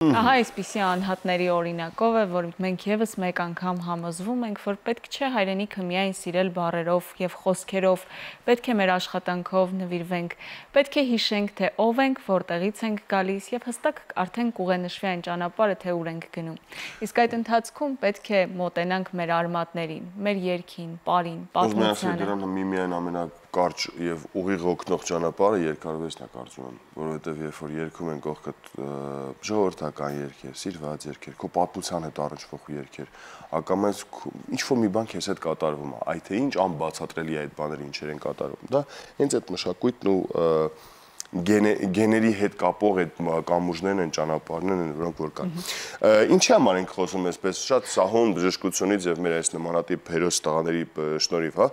Ահա այսպիսի անհատների օրինակով է, որ մենք եւս մեկ անգամ համոզվում ենք, որ պետք չէ հայրենիքը միայն սիրել բառերով եւ խոսքերով, պետք է մեր աշխատանքով նվիրվենք, պետք է հիշենք, թե ով ենք, որտեղից ենք գալիս եւ հստակ արդեն կուղենշվի այն ճանապարհը, թե ուր ենք գնում։ Իսկ այդ ընթացքում պետք է մոտենանք մեր արմատներին, մեր երգին, պարին, պատմությանը։ Դրան միմիայն ամենակարճ եւ ուղիղ օգնող ճանապարհը երկարվեստն է կարծում եմ, որովհետեւ երբ որ երգում են կողքդ ժողովրդական երգեր, սիրված երգեր, քո պատմության հետ առնչվող երգեր, ակամայից ինչ-որ մի բան քեզ հետ կատարվում է, այդ թե ինչ անբացատրելի է այդ բաները ինչեր են կատարվում։ Դա հենց այդ մշակույթն ու գեների հետ կապող այդ կամուրջներն են, ճանապարհներն են, որոնք որ կան։ Ինչի համար ենք խոսում այսպես շատ սահուն բժշկությունից եւ մեր այս նմանատիպ հերոս տղաների շնորհիվ, հա,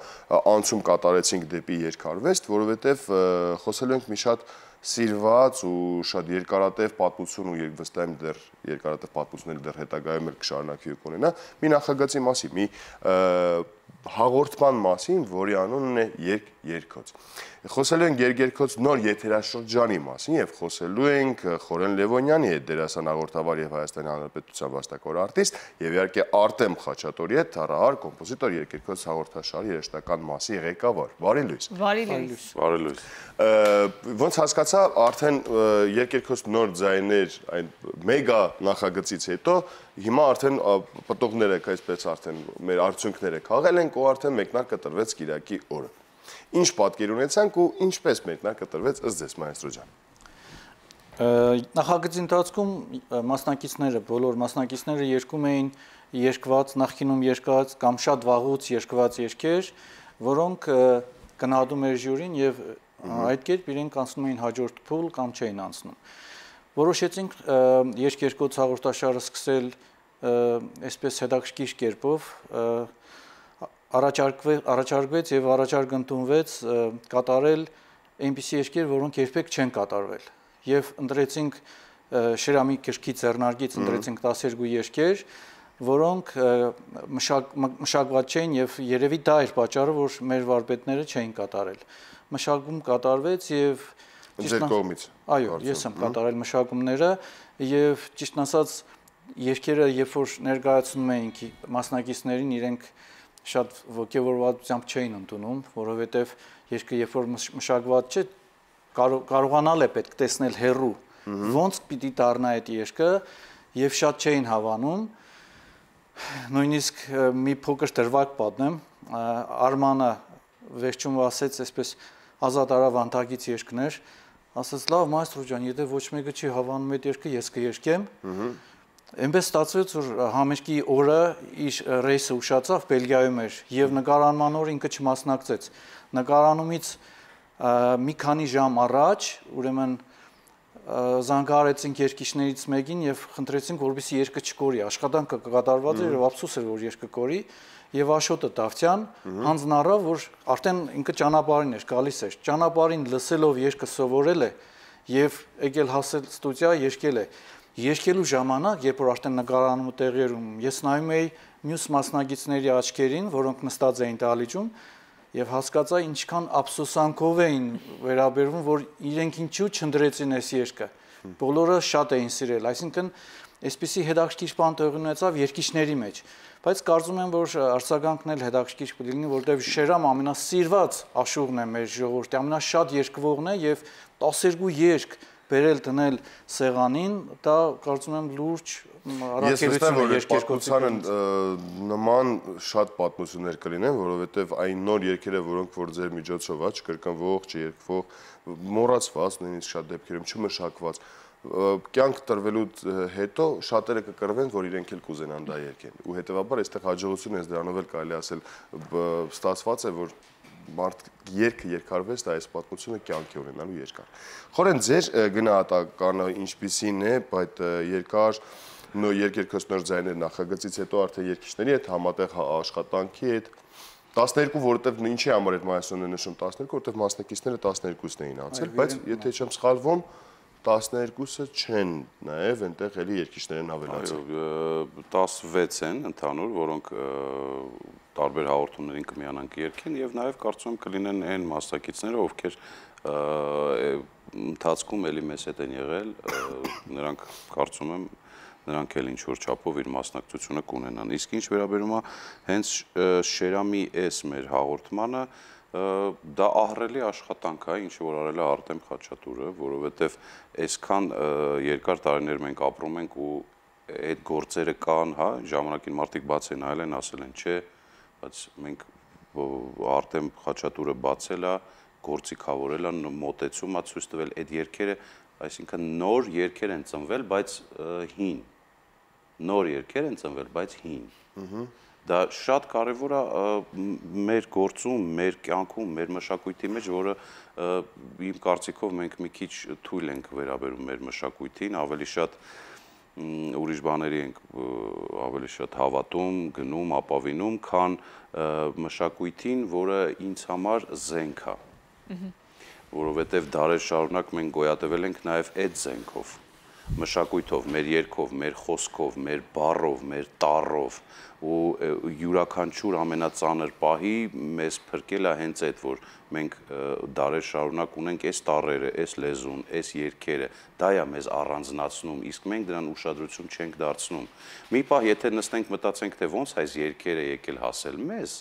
անցում կատարեցինք դեպի երկարվեստ, որովհետեւ խոսելու ենք մի շատ սիրված ու շատ երկարատև պատմություն ու վստահ եմ դեռ երկարատև պատմությունները դեռ հետագայում էլ կշարունակի ու կունենա մի նախագծի մասին, մի հաղորդման մասին, որի անունն է Երգերգոց։ Խոսելու ենք Երգերգոց նոր եթերաշրջանի մասին եւ խոսելու ենք Խորեն Լևոնյանի հետ, դերասան, հաղորդավար եւ Հայաստանի Հանրապետության վաստակավոր արտիստ եւ իհարկե Արտեմ Խաչատուրի հետ, թառահար, կոմպոզիտոր, Երգերգոց հաղորդաշարի երաժշտական մասի ղեկավար։ Բարի լույս։ Բարի լույս։ Բարի լույս։ Ոնց հասկացա, արդեն Երգերգոց նոր ձայներ այն մեգա նախագծից հետո հիմա արդեն պտուղները, այսպես արդեն մեր արդյունքները քաղել ենք ու արդեն մեկնարկը տրվեց Կիրակի օրը։ Ինչ պատկեր ունեցանք ու ինչպես մեկնարկը տրվեց ըստ ձեզ, մայստրո ջան։ Նախագծի ընթացքում մասնակիցները, բոլոր մասնակիցները երգում էին երգված, նախկինում երգված կամ շատ վաղուց երգված երգեր, որոնք գնահատում էր ժյուրին եւ այդ կերպ իրենք անցնում էին հաջորդ փուլ կամ չէին անցնում։ Որոշեցինք Երգերգոց հաղորդաշարը սկսել այսպես հետաքրքիր կերպով, առաջարկվեց եւ առաջարկ ընդունվեց կատարել այնպիսի երգեր, որոնք երբեք չեն կատարվել։ Եվ ընտրեցինք Շրամի գրքի ձեռնարկից ընտրեցինք 12 երգեր, որոնք մշակված չէին եւ երևի դա էր պատճառը, որ մեր վարպետները չէին կատարել։ Մշակում կատարվեց եւ Ձեր կողմից։ Այո, ես եմ կատարել մշակումները եւ ճիշտ ասած երգերը երբ որ ներկայացնում էինք մասնակիցներին, իրենք շատ ոգևորվածությամբ չէին ընդունում, որովհետեւ երգը երբ որ մշակված չէ, կարողանալ է պետք տեսնել հեռու, ոնց պիտի դառնա այդ երգը եւ շատ չէին հավանում։ Նույնիսկ մի փոքր դրվագ պատմեմ, Արմանը վերջում ասեց այսպես ազատ արավ անտագից երգներ, ասաց լավ մայստրո ջան, եթե ոչ մեկը չի հավանում այդ երգը, ես կերգեմ։ Այնպես ստացվեց, որ համերգի օրը իր ռեյսը ուշացավ, Բելգիայում էր եւ նկարանման օրը ինքը չմասնակցեց։ Նկարանումից մի քանի ժամ առաջ, ուրեմն զանգահարեցինք երգիչներից մեկին եւ խնդրեցինք, որպեսզի երգը չկորի։ Աշխատանքը կկատարված էր եւ ափսոս էր, որ երգը կորի եւ Աշոտը Դավթյան հանձն առավ, որ արդեն ինքը ճանապարհին էր, գալիս էր։ Ճանապարհին լսելով երգը սովորել է եւ եկել հասել ստուդիա, երգել է։ Երգելու ժամանակ, երբ որ արդեն նկարանումը տեղի էր ունենում, ես նայում էի մյուս մասնակիցների աչքերին, որոնք նստած էին դահլիճում, եւ հասկացա ինչքան ափսոսանքով էին վերաբերվում, որ իրենք ինչու չընտրեցին այս երգը։ Բոլորը շատ էին սիրել, այսինքն այսպիսի հետաքրքիր բան տեղի ունեցավ երգիչների մեջ, բայց կարծում եմ, որ արձագանքն էլ հետաքրքիր կլինի, որտեղ Շերամ ամենասիրված աշուղն է մեր ժողովրդի, ամենաշատ երգվողն է եւ 12 երգ բերել դնել սեղանին, դա կարծում եմ լուրջ առաքելություն է Երգերգոցի նման շատ պատմություններ կլինեն, որովհետև այն նոր երգերը, որոնք որ ձեր միջոցով չկրկնվող, չերկվող, մոռացված, նույնիսկ շատ դեպքերում չմշակված, կյանք տրվելու հետո շատերը կկռվեն, որ իրենք էլ կուզենան դա երգեն։ Ու հետևաբար այստեղ հաջողություն է, դրանով էլ կարելի ասել ստացված է, որ մարդ երգը երկարվեց, դա այս պատմությունը կյանքի ունենալու երկար։ Խորեն ձեր գնահատականը ինչպիսին է, այդ երկար Երգերգոց նոր ձայներ նախագծից հետո արդեն երգիչների հետ համատեղ աշխատանքի հետ 12, որովհետև ինչի համար այդ մայիսոնն է նշում 12, որովհետև մասնակիցները 12-ն էին անցել, բայց եթե չեմ սխալվում 12-ը չեն նաև այնտեղ էլի երգիչներ են ավելացել։ Այո, 16 են ընդհանուր, որոնք տարբեր հաղորդումներին կմիանան կերգեն եւ նաեւ կարծում եմ կլինեն այն մասնակիցները, ովքեր ընթացքում էլի մեզ հետ են եղել, նրանք կարծում եմ նրանք էլ ինչ-որ չափով իր մասնակցությունը կունենան։ Իսկ ինչ վերաբերում է հենց Շերամի էս մեր հաղորդմանը, դա ահռելի աշխատանք է, ինչ որ արել է Արտեմ Խաչատուրը, որովհետև այսքան երկար տարիներ մենք ապրում ենք ու այդ գործերը կան, հա, ժամանակին մարդիկ բաց են այլ են ասել են, չէ, բայց մենք Արտեմ Խաչատուրը բացել է, գործիքավորել է, մոտեցում է ցույց տվել այդ երգերը, այսինքն նոր երգեր են ծնվել, բայց հին։ Նոր երգեր են ծնվել, բայց հին։ Դա շատ կարևոր է մեր գործում, մեր կյանքում, մեր մշակույթի մեջ, որը իմ կարծիքով մենք մի քիչ թույլ ենք վերաբերում մեր մշակույթին, ավելի շատ ուրիշ բաների ենք ավելի շատ հավատում, գնում, ապավինում, քան մշակույթին, որը ինձ համար զենք է։ Որովհետև դարեր շարունակ մենք գոյատևել ենք նաև այդ զենքով, մշակույթով, մեր երգով, մեր խոսքով, մեր բառով, մեր տառով ու յուրաքանչյուր ամենածանր պահի մեզ փրկել է հենց այդ, որ մենք դարեր շարունակ ունենք այս տառերը, այս լեզուն, այս երգերը, դա է մեզ առանձնացնում, իսկ մենք դրան ուշադրություն չենք դարձնում։ Մի պահ եթե նստենք մտածենք, թե ոնց այս երգերը եկել հասել մեզ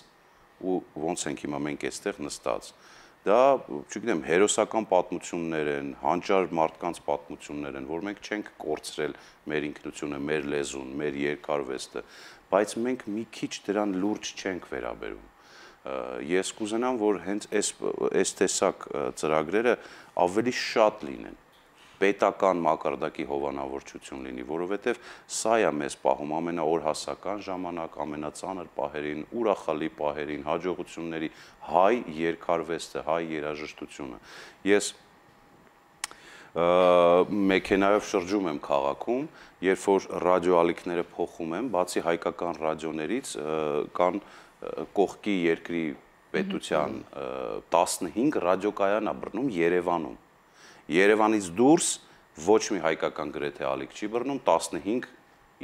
ու ոնց ենք հիմա մենք այստեղ նստած։ Դա, չգիտեմ, հերոսական պատմություններ են, հանճար մարդկանց պատմություններ են, որ մենք չենք կորցրել մեր ինքնությունը, մեր լեզուն, մեր երկարվեստը, բայց մենք մի քիչ դրան լուրջ չենք վերաբերում։ Ես կուզենամ, որ հենց այս տեսակ ծրագրերը ավելի շատ լինեն, պետական մակարդակի հովանավորչություն լինի, որովհետև սա է մեզ պահում ամենաօրհասական ժամանակ, ամենածանր պահերին, ուրախալի պահերին, հաջողությունների հայ երկարվեստը, հայ երաժշտությունը։ Ես մեքենայով շրջում եմ քաղաքում, երբ որ ռադիոալիքները փոխում եմ, բացի հայկական ռադիոներից կան կողքի երկրի պետության 15 ռադիոկայան է բռնում Երևանում։ Երևանից դուրս ոչ մի հայկական գրեթե ալիք չի բռնում, 15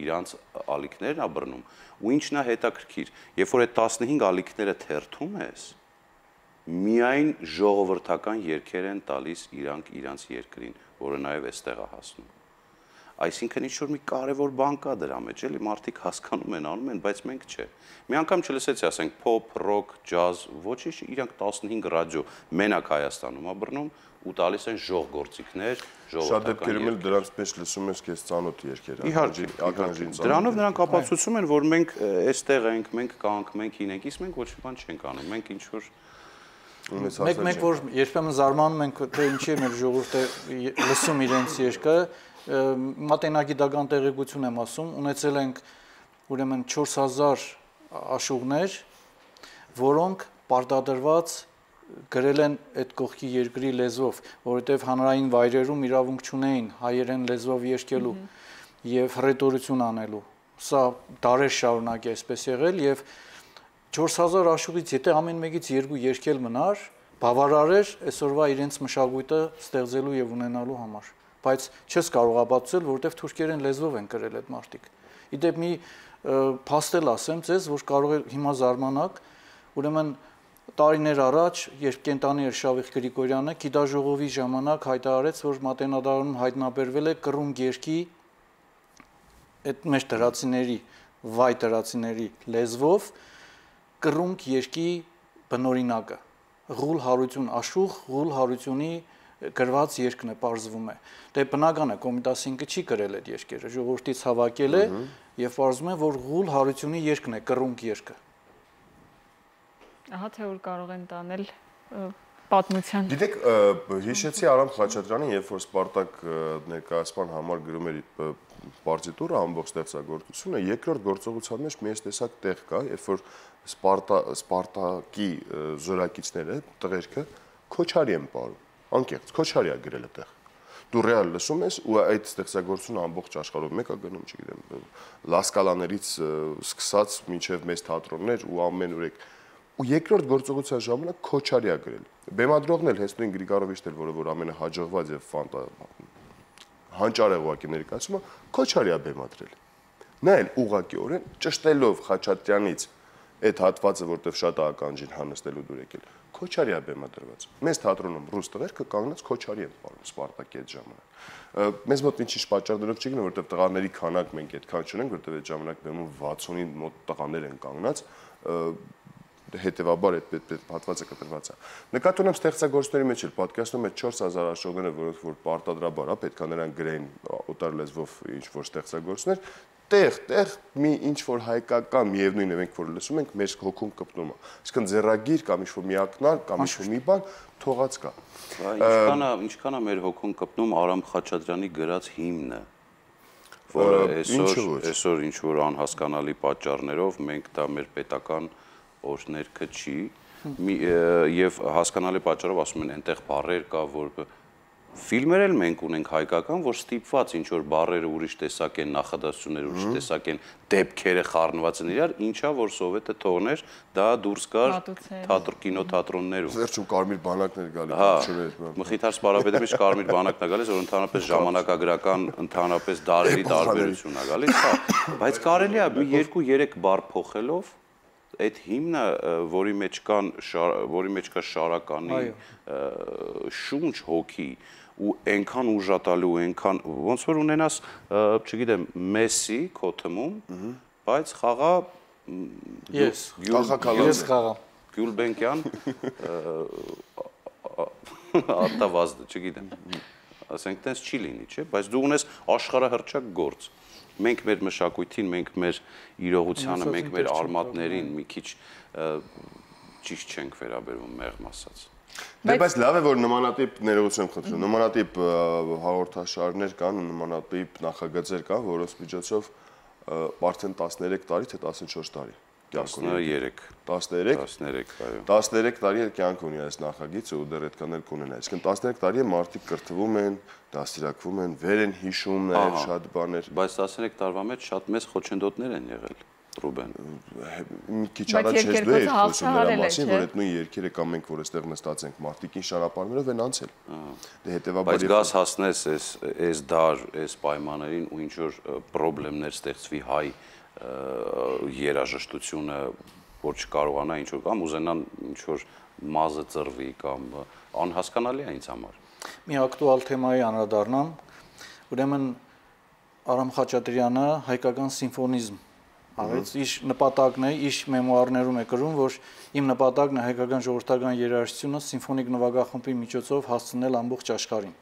իրանց ալիքներն է բռնում։ Ու ինչն է հետաքրքիր, երբ որ այդ 15 ալիքները թերթում ես, միայն ժողովրդական երգեր են տալիս իրանց երկրին, որը նաև այստեղ է հասնում։ Այսինքն ինչ-որ մի կարևոր բան կա դրա մեջ, էլի մարդիկ հասկանում են, անում են, բայց մենք չէ։ Մի անգամ չլսեցի, ասենք, փոփ, ռոք, ջազ, ոչինչ, իրանք 15 ռադիո մենակ Հայաստանում է բռնում ու տալիս են ժողգործիքներ, Շատ դեպքերում էլ դրանց մեջ լսում ես քեզ ծանոթ երգեր, իհարկե։ Դրանով նրանք ապացուցում են, որ մենք այստեղ ենք, մենք կանք, մենք հին ենք, իսկ մենք ոչ մի բան չենք անում, մենք ինչ-որ Մենք որ երբեմն զարմանում ենք, թե ինչի է մեր ժողովուրդը լսում իրենց երգը, մատենագիտական տեղեկություն եմ ասում, ունեցել ենք ուրեմն 4000 աշուղներ, որոնք պարտադրված գրել են այդ կողքի երկրի լեզվով, որովհետև հանրային վայրերում իրավունք չունեին հայերեն լեզվով երգելու եւ հռետորություն անելու։ Սա դարեր շարունակ է այսպես եղել եւ 4000 աշուղից եթե ամեն մեկից 2 երգել մնար, բավարար էր այսօրվա իրենց մշակույթը ստեղծելու եւ ունենալու համար, բայց չես կարող ապացուցել, որովհետեւ թուրքերեն լեզվով են գրել այդ մարդիկ։ Իդեպ մի փաստել ասեմ ձեզ, որ կարող է հիմա զարմանաք, ուրեմն տարիներ առաջ, երբ կենտանի էր Շավիղ Գրիգորյանը, գիտաժողովի ժամանակ հայտարարեց, որ Մատենադարանում հայտնաբերվել է կռուն երգի այդ մեր դրացիների, վայ դրացիների լեզվով կռունկ երկի բնօրինակը Ղուլ Հարություն Աշուղ Ղուլ Հարությունի գրված երգն է պարզվում է դե բնական է Կոմիտասինկը չի գրել այդ երգերը ժողովրդից հավաքել է եւ պարզվում է որ Ղուլ Հարությունի երգն է կռունկ երգը ահա թե որ կարող են տանել պատմության Գիտեք հիշեցի Արամ Խաչատրյանին երբ որ Սպարտակ ներկայացման համար գրում էր պարտիտուրը ամբողջ ստեղծագործությունը երկրորդ գործողության մեջ մի տեսակ տեղ կա երբ որ Սպարտակի զորակիցները տղերքը Քոչարի են ապարում անկեղծ Քոչարի է գրել այդտեղ դու ռեալ լսում ես ու այդ ստեղծագործությունը ամբողջ աշխարհում մեկը գնում չգիտեմ լասկալաներից սկսած մինչև մեծ թատրոններ ու ամեն ուրեք ու երկրորդ գործողության ժամանակ Քոչարի է գրել բեմադրողն էլ հենց նույն Գրիգարովիչն էլ որը որ ամենահաջողված եւ հանճարեղ ուղակի ներկայացումը Քոչարի է բեմադրել նա էլ ուղղակիորեն ճշտելով Խաչատրյանից այդ հատվածը որտեղ շատ ականջին հանստելու դուր եկել Քոչարի է բեմադրված։ Մեզ թատրոնում ռուս տղերքը կանգնած Քոչարի են պարում Սպարտակի այդ ժամանակ։ Մեզ մոտ ինչ պատճառ դրող չի գնում, որովհետև տղաների քանակ մենք այդքան չունենք, որովհետև այդ ժամանակ բեմում 60-ի մոտ տղաներ են կանգնած, հետևաբար այդ հատվածը կտրված է։ Նկատի ունեմ ստեղծագործների մեջ էլ պատկերացնում այդ 4000 աշխողները, որոնք որ պարտադրաբար է, պետք է նրանք գրեն օտար լեզվով ինչ որ ստեղծագործներ, տեղ մի ինչ որ հայկական միևնույն է մենք որ լսում ենք, մեր հոգում կպնում է։ Այսինքն ձեռագիր կամ ինչ որ մի ակնար կամ ինչ որ մի բան թողած կա։ Ինչքան է մեր հոգում կպնում Արամ Խաչատրյանի գրած հիմնը, որը այսօր ինչ որ անհասկանալի պատճառներով մենք դա մեր պետական օրհներքը չի եւ հասկանալի պատճառով ասում են այնտեղ բառեր կա, որ ֆիլմեր էլ մենք ունենք հայկական, որ ստիպված ինչ որ բառերը ուրիշ տեսակ են, նախադասությունները ուրիշ տեսակ են, դեպքերը խառնված են իրար, ինչա որ սովետը թողներ, դա դուրս գար կինոթատրոններում։ Վերջում կարմիր բանակներ գալի, Մխիթար Սպարապետի մեջ կարմիր բանակն է գալիս, որ ընդհանրապես ժամանակագրական, ընդհանրապես դարերի տարբերություն է գալիս, բայց կարելի է 2-3 բառ փոխելով այդ հիմնը, որի մեջ կա շարականի շունչ հոգի ու այնքան ուժատալու, այնքան ոնց որ ունենաս, չգիտեմ, Մեսսի քո թմում, բայց խաղա ես խաղա Գյուլբենկյան արտավազդը, չգիտեմ, ասենք տենց չի լինի, չէ, բայց դու ունես աշխարհահռչակ գործ։ Մենք մեր մշակույթին, մենք մեր իրողությանը, մենք մեր արմատներին մի քիչ ճիշտ չենք վերաբերվում, մեղմ ասած։ Բայց լավ է, որ նմանատիպ ներողություն եմ խնդրում, նմանատիպ հաղորդաշարներ կան, նմանատիպ նախագծեր կան, որոնց միջոցով արդեն 13 տարի, թե 14 տարի 13, այո։ 13 տարի է կյանք ունի այս նախագիծը ու դեռ այդքան էլ կունենա։ Այսինքն 13 տարի է մարդիկ կրթվում են, դաստիարակվում են, վեր են հիշում նաև շատ բաներ։ Բայց 13 տարվա մեջ շատ մեծ խոչընդոտներ են եղել, Ռուբեն։ Մի քիչ առաջ ես դու ես խոսում նրա մասին, որ այդ նույն երկերը կամ մենք որ այստեղ նստած ենք, մարդիկ ինչ ճանապարհներով են անցել։ Դե հետեւաբար բայց գաս հասնես այս դար, այս պայմաններին ու ինչ որ խնդիրներ ստեղծվի հայ երաժշտությունը, որ չկարողանա ինչ որ կամ ուզենան ինչ որ մազը ծռվի կամ անհասկանալի է ինձ համար։ Մի ակտուալ թեմայի անդրադառնամ, ուրեմն Արամ Խաչատրյանը հայկական սիմֆոնիզմ արեց, իր նպատակն է, իր մեմուարներում է գրում, որ իմ նպատակն է հայկական ժողովրդական երաժշտությունը սիմֆոնիկ նվագախմբի միջոցով հասցնել ամբողջ աշխարհին։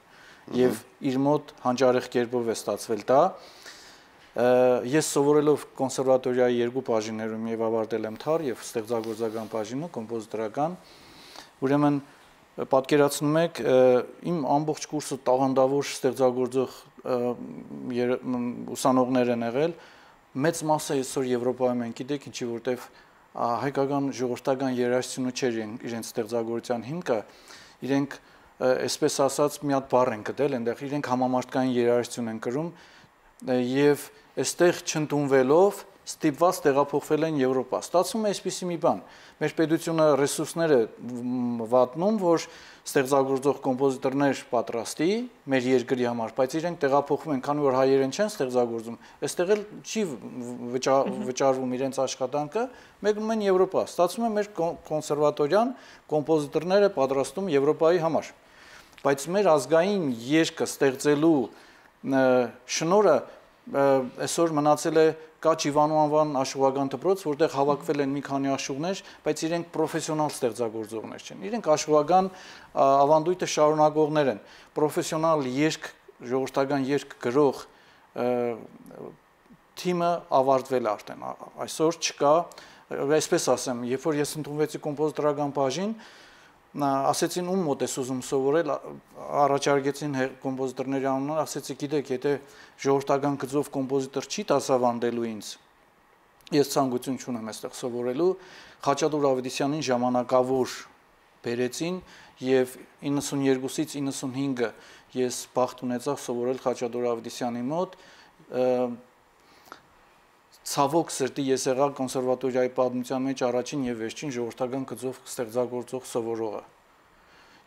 Եվ իր մոտ հանճարեղ կերպով է ստացվել դա։ Ես սովորելով կոնսերվատորիայի 2 բաժիններում եւ ավարտել եմ թար եւ ստեղծագործական բաժինը, կոմպոզիտորական, ուրեմն պատկերացնում եք, իմ ամբողջ կուրսը տաղանդավոր ստեղծագործող ուսանողներ են եղել, մեծ մասը այսօր Եվրոպայում են, գիտեք ինչի, որտեվ հայկական ժողովրդական երաժշտությունը չէր իրենց ստեղծագործության հիմքը, իրենք այսպես ասած մի հատ բառ են գտել, այնտեղ իրենք համամարտկային երաժշտություն են կրում եւ այստեղ չընդունվելով ստիպված տեղափոխվել են Եվրոպա։ Ստացվում է այսպիսի մի բան։ Մեր պետությունը ռեսուրսներ է վատնում, որ ստեղծագործող կոմպոզիտորներ պատրաստի մեր երկրի համար, բայց իրենք տեղափոխվում են, քանի որ հայերեն չեն ստեղծագործում, այստեղ էլ չի վճարվում իրենց աշխատանքը, մեկնում են Եվրոպա։ Ստացվում է մեր կոնսերվատորիան կոմպոզիտորները պատրաստում Եվրոպայի համար։ Բայց մեր ազգային երգը ստեղծելու շնորհը այսօր մնացել է Կաչ Իվանու անվան աշխուղական դպրոց, որտեղ հավաքվել են մի քանի աշխուղներ, բայց իրենք պրոֆեսիոնալ ստեղծագործողներ չեն։ Իրենք աշխուղական ավանդույթը շարունակողներ են։ Պրոֆեսիոնալ երգ, ժողովրդական երգ գրող թիմը ավարտվել է արդեն։ Այսօր չկա, այսպես ասեմ, երբ որ ես ընդունվեցի կոմպոզիտորական բաժին, ասեցին ում մոտ ես ուզում սովորել, առաջարկեցին կոմպոզիտորների անունները, ասեցի գիտեք, եթե ժողովրդական գծով կոմպոզիտոր չի դասավանդելու ինձ, ես ցանկություն չունեմ այստեղ սովորելու, Խաչատուր Ավետիսյանին ժամանակավոր բերեցին եւ 92-ից 95-ը ես բախտ ունեցա սովորել Խաչատուր Ավետիսյանի մոտ, ցավոք սրտի ես եղա կոնսերվատորիայի պատմության մեջ առաջին եւ վերջին ժողովրդական գծով ստեղծագործող սովորողը։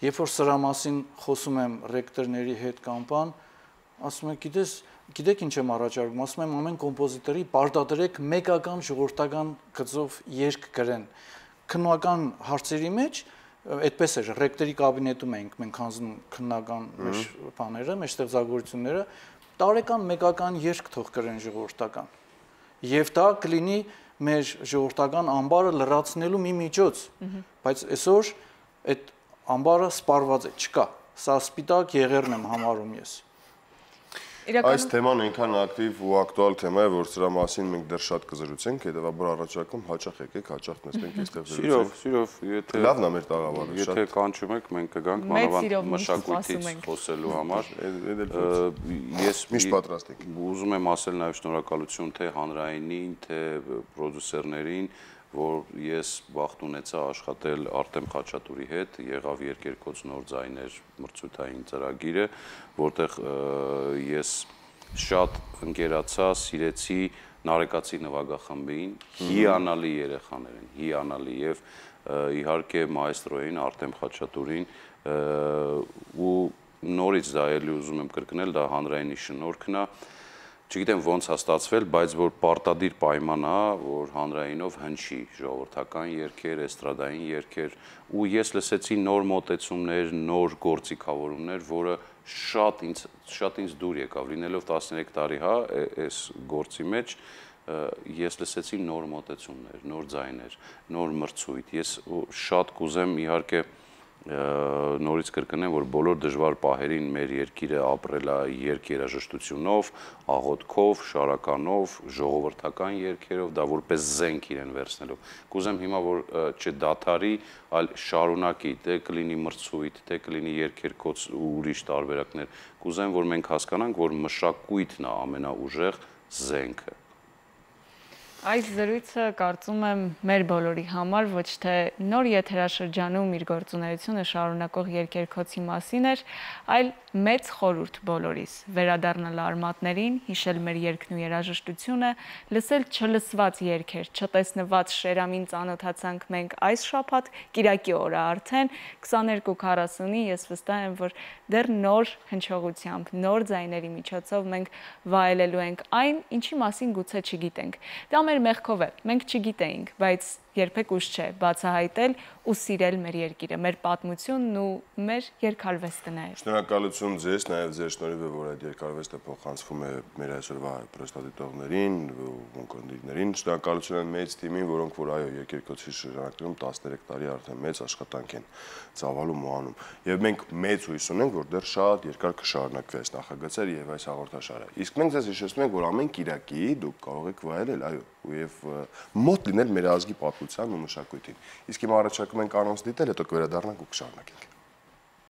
Երբ որ սրա մասին խոսում եմ ռեկտորների հետ կամ բան, ասում են, գիտեք ինչ եմ առաջարկում, ասում եմ ամեն կոմպոզիտորի պարտադրեք մեկական ժողովրդական գծով երգ գրեն։ Քննական հարցերի մեջ այդպես էր ռեկտորի կաբինետում էինք մենք հանձնում քննական մեր բաները, մեր ստեղծագործությունները, տարեկան մեկական երգ թող կրեն ժողովրդական։ Եվ դա կլինի մեր ժողովրդական ամբարը լրացնելու մի միջոց, բայց այսօր այդ ամբարը սպառված է, չկա։ Սա սպիտակ եղերն եմ համարում ես։ Այս թեման այնքան ակտիվ ու ակտուալ թեմա է, որ սրա մասին մենք դեռ շատ կզրուցենք, հետևաբար առաջարկում հաճախ եկեք, հաճախ նստենք այստեղ զրուցենք։ Սիրով, եթե լավն է մեր տաղավարը, եթե կանչում եք, մենք կգանք մանավանդ մշակույթից խոսելու համար։ Ես միշտ պատրաստ ենք։ Ուզում եմ ասել նաև շնորհակալություն թե հանրայինին, թե պրոդյուսերներին, որ ես բախտ ունեցա աշխատել Արտեմ Խաչատուրի հետ, եղավ Երկերկոց նոր ձայներ մրցույթային ծրագիրը, որտեղ ես շատ ընկերացա, սիրեցի Նարեկացի նվագախմբին, հիանալի երեխաներ են, հիանալի եւ իհարկե մայստրոին Արտեմ Խաչատուրին ու նորից դա էլի ուզում եմ կրկնել, դա հանրայինի շնորհքն է։ Չգիտեմ ոնց է ստացվել, բայց որ պարտադիր պայման է, որ հանրայինով հնչի ժողովրդական երգեր, էստրադային երգեր, ու ես լսեցի նոր մոտեցումներ, նոր գործիքավորումներ, որը շատ ինձ դուր եկավ, լինելով 13 տարի, հա, այս գործի մեջ, ես լսեցի նոր մոտեցումներ, նոր ձայներ, նոր մրցույթ։ Ես շատ կուզեմ իհարկե նորից կրկնեմ, որ բոլոր դժվար պահերին մեր երկիրը ապրել է երգ երաժշտությունով, աղոթքով, շարականով, ժողովրդական երգերով, դա որպես զենք իրեն վերցնելով։ Կուզեմ հիմա որ չդադարի, այլ շարունակի, թե կլինի մրցույթ, թե կլինի երգերկոց ու ուրիշ տարբերակներ։ Կուզեմ որ մենք հասկանանք, որ մշակույթն է ամենաուժեղ զենքը։ Այս զրույցը կարծում եմ մեր բոլորի համար ոչ թե նոր եթերաշրջանում իր գործունեությունը շարունակող Երկերկոցի մասին էր, այլ մեծ խորհուրդ բոլորիս վերադառնալ արմատներին, հիշել մեր երգն ու երաժշտությունը, լսել չլսված երգեր, չտեսնված շերամին ծանոթացանք մենք այս շաբաթ, կիրակի օրը արդեն 22:40-ի, ես վստահ եմ, որ դեռ նոր հնչողությամբ, նոր ձայների միջոցով մենք վայելելու ենք այն, ինչի մասին գուցե չգիտենք։ Դա մեր մեղքով է, մենք չգիտեինք, բայց երբեք ուշ չէ բացահայտել ու սիրել մեր երկիրը, մեր պատմությունն ու մեր երգարվեստը նաև։ Շնորհակալություն ձեզ, նաև ձեր շնորհիվ է, որ այդ երգարվեստը փոխանցվում է մեր այսօրվա պրոստատիտողներին ու ունկնդիրներին։ Շնորհակալություն մեծ թիմին, որոնք որ այո, Երկերկոցի շրջանակներում 13 տարի արդեն մեծ աշխատանք են ծավալում ու անում։ Եվ մենք մեծ հույս ունենք, որ դեռ շատ երկար կշարունակվի այս նախագծերը եւ այս հաղորդաշարը։ Իսկ մենք ձեզ հիշեցնում ենք, որ ամեն կիրակի դուք կարող եք վայելել, այո, եւ մոտ լինել մեր ազգի պատմության ու մշակույթին։ Իսկ հիմա առաջարկում ենք անոնց դիտել, հետո կվերադառնանք ու կշարունակենք։